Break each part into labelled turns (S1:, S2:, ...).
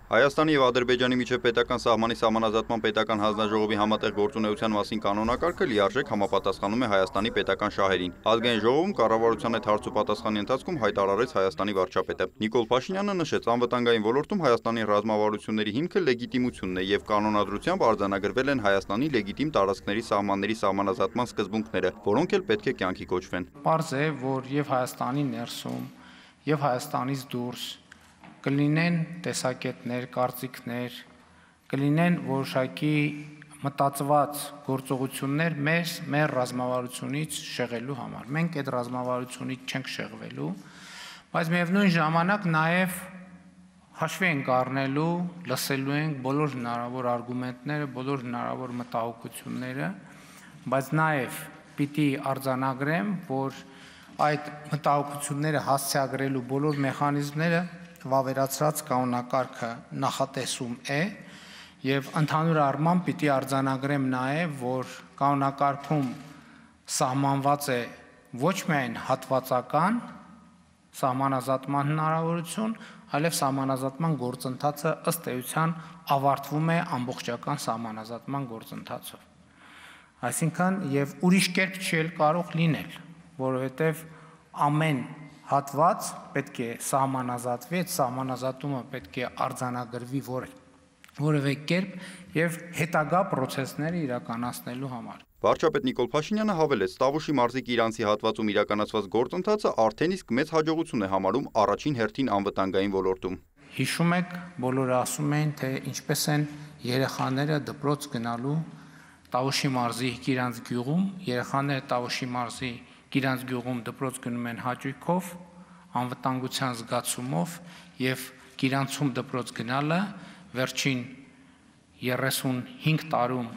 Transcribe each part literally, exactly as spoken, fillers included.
S1: Հայաստանի և Ադրբեջանի միջև պետական սահմանի սահմանազատման պետական հանձնաժողովի համատեղ գործունեության մասին կանոնակարգը լիարժեք համապատասխանում է Հայաստանի պետական շահերին։ Ազգային ժողովում կառավարության հետ հարց ու պատասխանի ընթացքում հայտարարեց Հայաստանի վարչապետը։ Նիկոլ Փաշինյանը նշեց, անվտանգային ոլորտում Հայաստանի ռազմավարությունների հիմքը լեգիտիմությունն է և կանոնադրությամբ արձանագրվել են Հայաստանի լեգիտիմ տարածքների սահմանների սահմանազատման սկզբունքները, որոնք էլ պետք է կյանքի կոչվեն։
S2: Պարզ է, որ և Հայաստանի ներսում, և Հայաստանից դուրս կլինեն տեսակետներ, կարծիքներ, կլինեն որոշակի մտածված գործողություններ մեր, մեր ռազմավարությունից շեղելու համար։ Մենք այդ ռազմավարությունից չենք շեղվելու, բայց միևնույն ժամանակ նաև հաշվի ենք առնելու, լսելու ենք բոլոր հնարավոր արգումենտները, բոլոր հնարավոր մտահոգությունները, բայց նաև պիտի արձանագրեմ, որ այդ մտահոգությունները հասցեագրելու բոլոր մեխանիզմները վավերացրած կանոնակարգը նախատեսում է և ընդհանուր առմամբ պիտի արձանագրեմ նաև, որ կանոնակարգում սահմանված է ոչ միայն հատվածական սահմանազատման հնարավորություն, այլև սահմանազատման գործընթացը ըստ էության ավարտվում է ամբողջական սահմանազատման գործընթացով։ Այսինքն և ուրիշ կերպ չի էլ կարող լինել, որովհետև ամեն հատված պետք է սահմանազատվի, այդ սահմանազատումը պետք է արձանագրվի որևէ կերպ և հետագա պրոցեսները իրականացնելու համար։
S1: Վարչապետ Նիկոլ Փաշինյանը հավելեց, Տավուշի մարզիկի Իրանցի հատվածում իրականացված գործընթացը արդեն իսկ մեծ հաջողություն է համարում առաջին հերթին անվտանգային ոլորտում։
S2: Հիշում եք, բոլորը ասում էին, թե ինչպես են երեխաները դպրոց գնալու Տավուշի մարզի Գիրանց գյուղում, երեխաները Տավուշի մարզի Գիրանց գյուղում դպրոց գնում են հաճույքով, անվտանգության զգացումով և Գիրանցում դպրոց գնալը վերջին երեսունհինգ տարում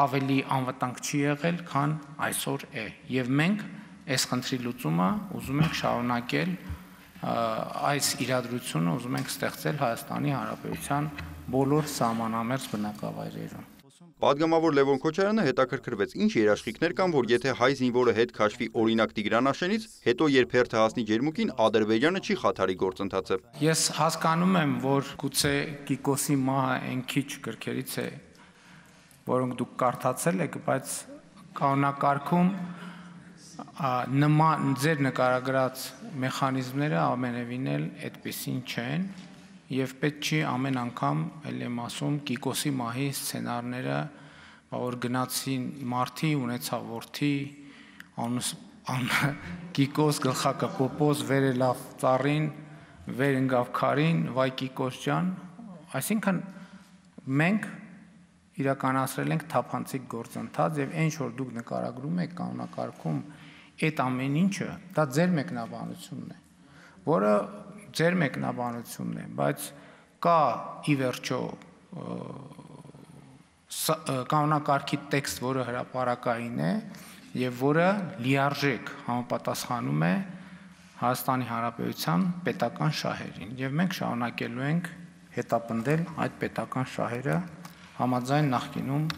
S2: ավելի անվտանգ չի եղել, քան այսօր է, և մենք այս խնդրի լուծումը ուզում ենք շարունակել, այս իրադրությունը ուզում ենք ստեղծել Հայաստանի Հանրապետության բոլոր սահմանամերձ բնակավայրերում։
S1: Պատգամավոր Լևոն Քոչարյանը հետաքրքրվեց, ինչ երաշխիքներ կան, որ եթե հայ զինվորը հետ քաշվի օրինակ Տիգրանաշենից, հետո երբ հերթը հասնի ջերմուկին, Ադրբեջանը չի խաթարի գործընթացը։
S2: Ես հասկանում եմ, որ գուցե Կիկոսի մահը այն քիչ գրքերից է, որոնք դուք կարդացել եք, բայց կանոնակարգում նման ձեր նկարագրած մեխանիզմները ամենևին էլ այդպիսին չեն, և պետք չի ամեն անգամ, էլ եմ ասում, Կիկոսի մահի սցենարները, որ գնացին մարդի, ունեցավ որդի, Կիկոս գլխակը պոպոզ, վեր ելավ ծառին, վեր ընկավ քարին, վայ Կիկոս ջան, այսինքն մենք իրականացրել ենք թափանցիկ գործընթաց և ինչ որ դուք նկարագրում եք կանոնակարգում այդ ամեն ինչը, դա ձեր մեկնաբանությունն է, որը ձեր մեկնաբանությունն է, բայց կա ի վերջո կանոնակարգի տեքստ, որը հրապարակային է և որը լիարժեք համապատասխանում է Հայաստանի Հանրապետության պետական շահերին, և մենք շարունակելու ենք հետապնդել այդ պետական շահերը համաձայն նախկինում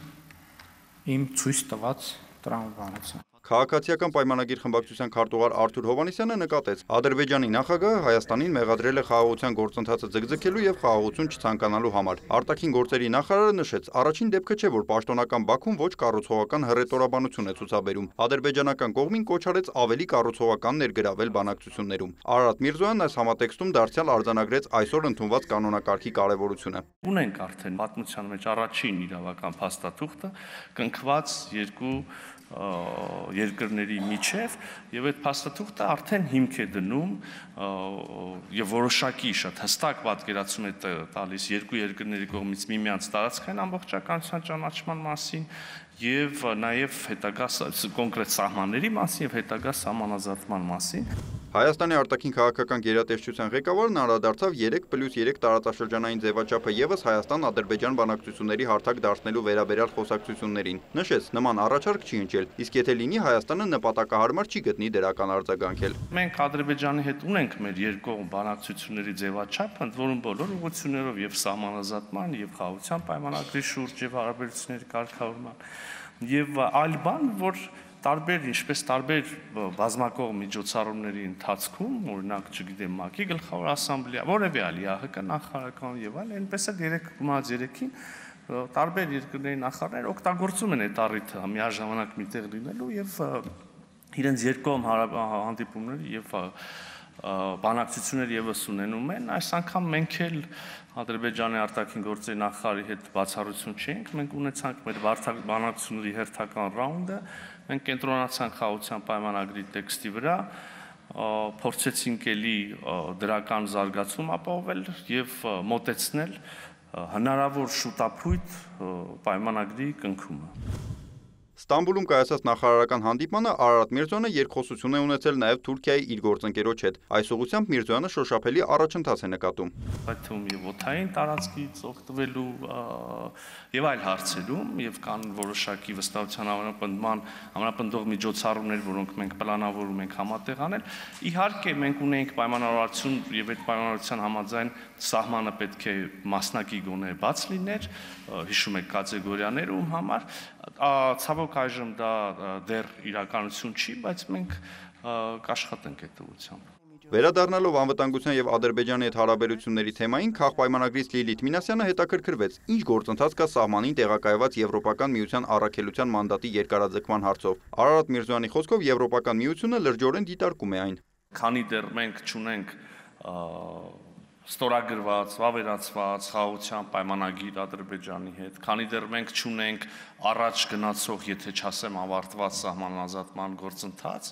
S2: իմ ցույց տված տրամաբանության։
S1: Քաղաքացիական պայմանագիր խմբակցության քարտուղար Արթուր Հովհաննիսյանը նկատեց, Ադրբեջանի նախագահը Հայաստանին մեղադրել է խաղաղության գործընթացը ձգձգելու և խաղաղություն չցանկանալու համար։ Արտաքին գործերի նախարարը նշեց, առաջին դեպքը չէ, որ պաշտոնական Բաքուն ոչ կառուցողական հռետորաբանություն է ցուցաբերում։ Ադրբեջանական կողմին կոչ արեց ավելի կառուցողական ներգրավել բանակցություններում։ Արարատ Միրզոյանն այս համատեքստում դարձյալ արձանագրեց այսօր ընդունված կանոնակարգի կարևորությունը։
S3: Ունենք արդեն պատմության մեջ առաջին իրավական փաստաթուղթը կնքված երկու երկրների միջև և այդ փաստաթուղթը արդեն հիմք է դնում և որոշակի շատ հստակ պատկերացում է տալիս երկու երկրների կողմից միմյանց տարածքային ամբողջականության ճանաչման մասին և նաև հետագա կոնկրետ սահմանների մասին և հետագա սահմանազատման մասին։
S1: Հայաստանի արտաքին քաղաքական գերատեսչության ղեկավարն անդրադարձավ երեք պլյուս երեք տարածաշրջանային ձևաչափը ևս Հայաստան-Ադրբեջան բանակցությունների հարթակ դարձնելու վերաբերյալ խոսակցություններին։ Նշեց, նման առաջարկ չի հնչել, իսկ եթե լինի, Հայաստանը նպատակահարմար չի գտնի դրական արձագանքել։
S3: Մենք Ադրբեջանի հետ ունենք մեր երկկողմ բանակցությունների ձևաչափ, ընդ որում բոլոր ուղղություններով և սահմանազատման, և խաղաղության պայմանագրի շուրջ, և հարաբերությունների կարգավորման, և այլ բան, որ տարբեր ինչպես տարբեր բազմակողմ միջոցառումների ընթացքում, օրինակ, չգիտեմ, ՄԱԿ-ի գլխավոր ասամբլեա, որևէ այլ ՀՀԿ նախարարական եւ այլ, այնպես էլ երեք գումարած երեքին տարբեր երկրների նախարարներ օգտագործում են այդ առիթը միաժամանակ միտեղ լինելու եւ իրենց երկկողմ հանդիպումների եւ բանակցություններ եւս ունենում են, այս անգամ մենք էլ Ադրբեջանի արտաքին գործերի նախարարի հետ բացառություն չենք, մենք ունեցանք մեր բանակցությունների հերթական ռաունդը, մենք կենտրոնացանք խաղաղության պայմանագրի տեքստի վրա, փորձեցինք էլի դրական զարգացում ապահովել եւ մոտեցնել հնարավոր շուտափույթ պայմանագրի կնքումը։
S1: Ստամբուլում կայացած նախարարական հանդիպմանը Արարատ Միրզոյանը երկխոսություն է ունեցել նաև Թուրքիայի իր գործընկերոջ հետ։ Այս ուղղությամբ Միրզոյանը շոշափելի առաջընթաց է նկատում։
S3: Այդ թվում եւ օդային տարածքից օգտվելու եւ այլ հարցերում եւ կան որոշակի վստահության համապնդման համապնդող միջոցառումներ, որոնք մենք պլանավորում ենք համատեղ անել։ Իհարկե մենք ունենք պայմանավորվածություն եւ այդ պայմանավորվածության համաձայն սահմանը պետք է մասնակի գոնե բաց լիներ, հիշում եք կատեգորիաներում համար, ցավոք այժմ դա դեռ իրականություն չի, բայց մենք կաշխատենք այդ ուղղությամբ։
S1: Վերադառնալով անվտանգության եւ Ադրբեջանի հետ հարաբերությունների թեմային, քաղաքպայմանագրից Լիլիթ Մինասյանը հետաքրքրվեց, ինչ գործընթաց կա սահմանին տեղակայված Եվրոպական միության առաքելության մանդատի երկարաձգման հարցով։ Արարատ Միրզոյանի խոսքով Եվրոպական միությունը լրջորեն դիտարկում է այն։
S3: Քանի դեռ մենք չունենք ստորագրված, վավերացված խաղաղության պայմանագիր Ադրբեջանի հետ, քանի դեռ մենք չունենք առաջ գնացող, եթե չասեմ ավարտված սահմանազատման գործընթաց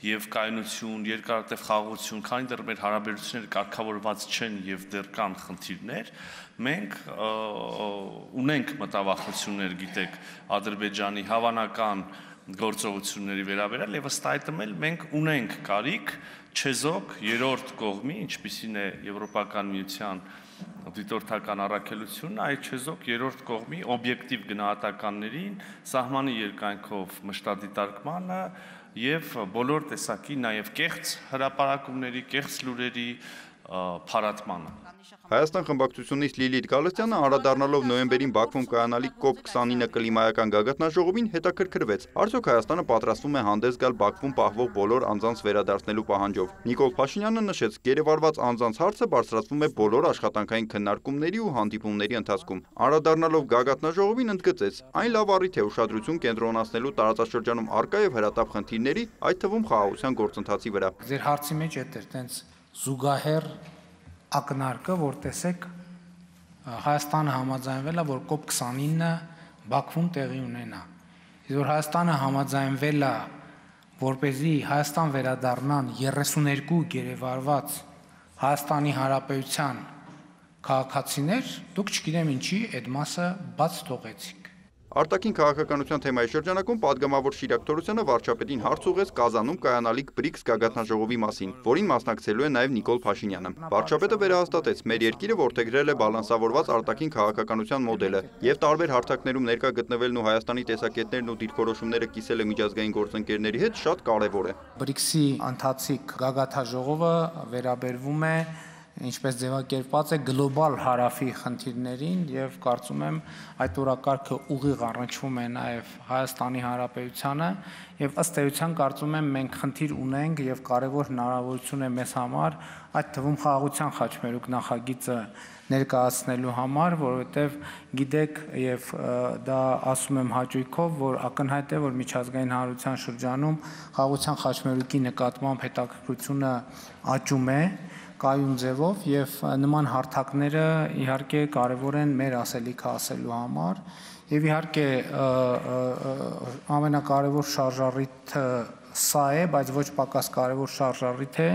S3: եւ կայունություն, երկարատև խաղաղություն, քանի դեռ մեր հարաբերությունները կարգավորված չեն եւ դեռ կան խնդիրներ, մենք ունենք մտավախություններ, գիտեք, Ադրբեջանի հավանական գործողությունների վերաբերյալ եւ ըստ այդմ էլ մենք ունենք կարիք չեզոք երրորդ կողմի, ինչպիսին է Եվրոպական միության դիտորդական առաքելությունը, այդ չեզոք երրորդ կողմի օբյեկտիվ գնահատականներին, սահմանի երկայնքով մշտադիտարկմանը եւ բոլոր տեսակի նաեւ կեղծ հրապարակումների, կեղծ լուրերի փարատմանը։
S1: Հայաստան խմբակցությունից Լիլիթ Գալստյանը անդրադառնալով նոյեմբերին Բաքվում կայանալիք կոպ քսանինը կլիմայական գագաթնաժողովին հետաքրքրվեց։ Արդյոք Հայաստանը պատրաստվում է հանդես գալ Բաքվում պահվող բոլոր անձանց վերադարձնելու պահանջով։ Նիկոլ Փաշինյանը նշեց, գերեվարված անձանց հարցը բարձրացվում է բոլոր աշխատանքային քննարկումների ու հանդիպումների ընթացքում։ Անդրադառնալով գագաթնաժողովին ընդգծեց, այն լավ առիթ է ուշադրություն կենտրոնացնելու տարածաշրջանում առկա եւ հրատապ խնդիրների, այդ թվում խաղաղության գործընթացի վրա։
S2: Ձեր հարցի մեջ է տենց զուգահեռ ակնարկը, որ տեսեք Հայաստանը համաձայնվել է, որ կոպ քսանինը Բաքվում տեղի ունենա։ Իսկ որ Հայաստանը համաձայնվել է, որպեսզի Հայաստան վերադառնան երեսուներկու գերեվարված Հայաստանի Հանրապետության քաղաքացիներ, դուք չգիտեմ ինչի այդ մասը բաց թողեցիք։
S1: Արտաքին քաղաքականության թեմայի շրջանակում падգամավոր Շիրակ Թորոսյանը վարչապետին հարց ուղղեց Կազանում կայանալիք բրիքս գագաթնաժողովի մասին, որին մասնակցելու է նաև Նիկոլ Փաշինյանը։ Վարչապետը վերահաստատեց, մեր երկիրը որդեգրել է բալանսավորված արտաքին քաղաքականության մոդելը եւ տարբեր հարթակներում ներկա գտնվելն ու Հայաստանի տեսակետներն ու դիրքորոշումները կիսելը միջազգային գործընկերների հետ շատ կարեւոր է։
S2: Բրիքսի ընթացիկ գագաթնաժողովը վերաբերվում է ինչպես ձևակերպված է գլոբալ հարավի խնդիրներին եւ կարծում եմ այդ օրակարգը ուղիղ առնչվում է նաեւ Հայաստանի Հանրապետությանը եւ ըստ էության կարծում եմ մենք խնդիր ունենք եւ կարեւոր հնարավորություն է մեզ համար այդ թվում խաղաղության խաչմերուկ նախագիծը ներկայացնելու համար, որովհետեւ գիտեք եւ դա ասում եմ հաճույքով, որ ակնհայտ է, որ միջազգային հանրության շրջանում խաղաղության խաչմերուկի նկատմամբ հետաքրքրությունը աճում է կայուն ձևով եւ նման հարթակները իհարկե կարեւոր են մեր ասելիքը ասելու համար եւ իհարկե ամենակարևոր շարժառիթը սա է, բայց ոչ պակաս կարևոր շարժառիթ է,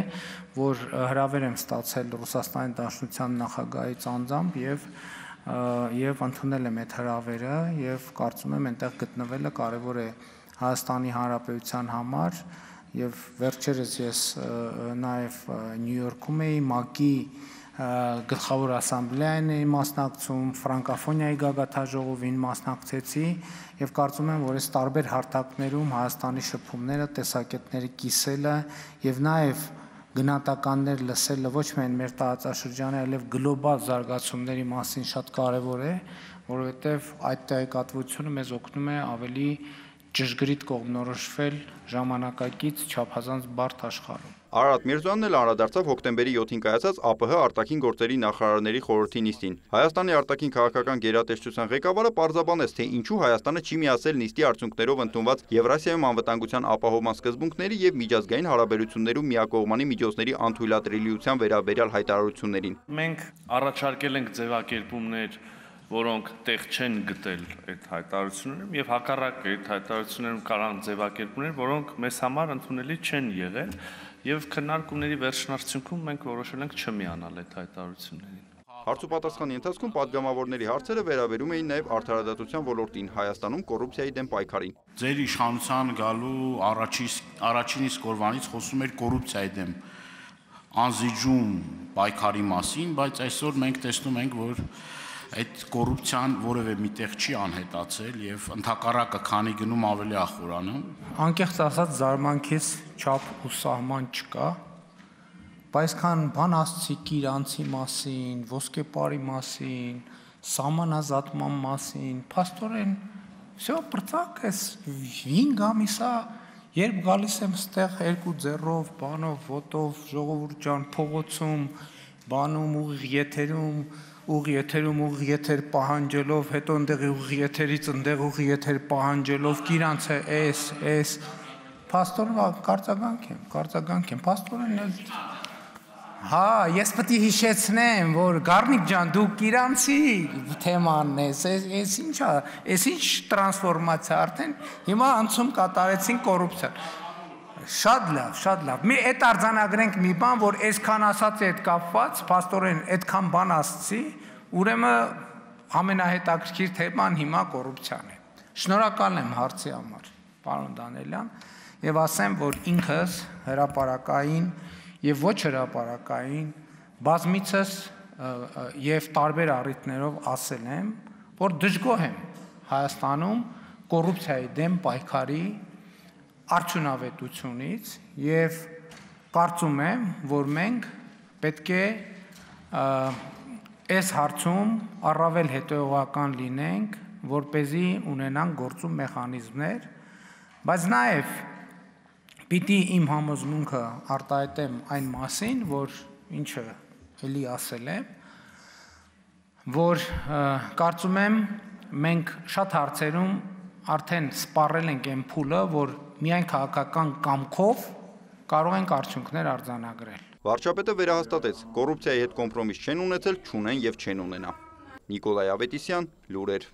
S2: որ հրավեր եմ ստացել Ռուսաստանի Դաշնության նախագահից անձամբ եւ եւ ընդունել եմ այդ հրավերը եւ կարծում եմ այնտեղ գտնվելը կարևոր է Հայաստանի Հանրապետության համար եւ վերջերս ես նաեւ Նյու Յորքում էի ՄԱԿ-ի գլխավոր ասամբլեային էի մասնակցում, ֆրանկոֆոնիայի գագաթնաժողովին մասնակցեցի եւ կարծում եմ, որ այս տարբեր հարթակներում Հայաստանի շփումները, տեսակետների կիսելը եւ նաեւ գնահատականներ լսելը ոչ միայն մեր տարածաշրջանի, այլև գլոբալ զարգացումների մասին շատ կարեւոր է, որովհետեւ այդ տեղեկատվությունը մեզ օգնում է ավելի ճշգրիտ կողմնորոշվել ժամանակակից չափազանց բարդ աշխարհում։
S1: Արարատ Միրզոյանն էլ անդրադարձավ հոկտեմբերի յոթին կայացած ԱՊՀ արտաքին գործերի նախարարների խորհրդի նիստին։ Հայաստանի արտաքին քաղաքական գերատեսչության ղեկավարը պարզաբանեց, թե ինչու Հայաստանը չի միացել նիստի արդյունքներով ընդունված Եվրասիայում անվտանգության ապահովման սկզբունքների եւ միջազգային հարաբերություններում միակողմանի միջոցների անթույլատրելիության վերաբերյալ հայտարարություններին։
S3: Մենք առաջարկել ենք ձևակերպումներ, որոնք տեղ չեն գտել այդ հայտարարություններում եւ հակառակը այդ հայտարարություններում կարան ձևակերպումներ, որոնք մեզ համար ընդունելի չեն եղել եւ քննարկումների վերջնարդյունքում մենք որոշել ենք չմիանալ այդ հայտարարություններին։
S1: Հարց ու պատասխանի ընթացքում պատգամավորների հարցերը վերաբերում էին նաև արդարադատության ոլորտին, Հայաստանում կոռուպցիայի դեմ պայքարին։
S4: Ձեր իշխանության գալու առաջին իսկ օրվանից խոսում էր կոռուպցիայի դեմ անզիջում պայքարի մասին, բայց այսօր մենք տեսնում ենք, որ այդ կոռուպցիան որևէ միտեղ չի անհետացել եւ ընդհակառակը քանի գնում ավելի ախորանում։
S2: Անկեղծ ասած զարմանքից չափ ու սահման չկա, բայց քան բան ասցիք իրանցի մասին, ոսկեպարի մասին, սահմանազատման մասին, փաստորեն всё բրծակ էս հինգ ամիսա երբ գալիս եմ ստեղ երկու ձեռով, բանով, ոտով, ժողովուրդ ջան, փողոցում, բանում ուղիղ եթերում ուղի եթերում ուղի եթեր պահանջելով, հետո ընդեղ ուղի եթերից ընդեղ ուղի եթեր պահանջելով, իրանց է էս, էս, փաստորեն կարծականք եմ, կարծականք եմ, փաստորեն էլ, հա, ես պետք է հիշեցնեմ, որ Գառնիկ ջան, դուք իրանցի թեմանն ես, էս ինչա, էս ինչ տրանսֆորմացիա արդեն, հիմա անցում կատարեցին կոռուպցիան։ Շատ լավ, շատ լավ։ Մի այդ արձանագրենք մի բան, որ այսքան ասացի այդ կապված, փաստորեն այդքան բան ասացի, ուրեմն ամենահետաքրքիր թեման հիմա կոռուպցիան է։ Շնորհակալ եմ հարցի համար, պարոն Դանելյան, եւ ասեմ, որ ինքս հրապարակային եւ ոչ հրապարակային բազմիցս եւ տարբեր առիթներով ասել եմ, որ դժգոհ եմ Հայաստանում կոռուպցիայի դեմ պայքարի արդյունավետությունից եւ կարծում եմ, որ մենք պետք է այս հարցում առավել հետեւողական լինենք, որպեսզի ունենանք գործում մեխանիզմներ, բայց նաեւ պիտի իմ համոզմունքը արտահայտեմ այն մասին, որ ինչը էլի ասել եմ, որ կարծում եմ մենք շատ հարցերում արդեն սպառել ենք այն փուլը, որ միայն քաղաքական կամքով կարող ենք արդյունքներ արձանագրել։
S1: Վարչապետը վերահաստատեց, կոռուպցիայի հետ կոմպրոմիս չեն ունեցել, չունեն եւ չեն ունենա։ Նիկոլայ Ավետիսյան, լուրեր։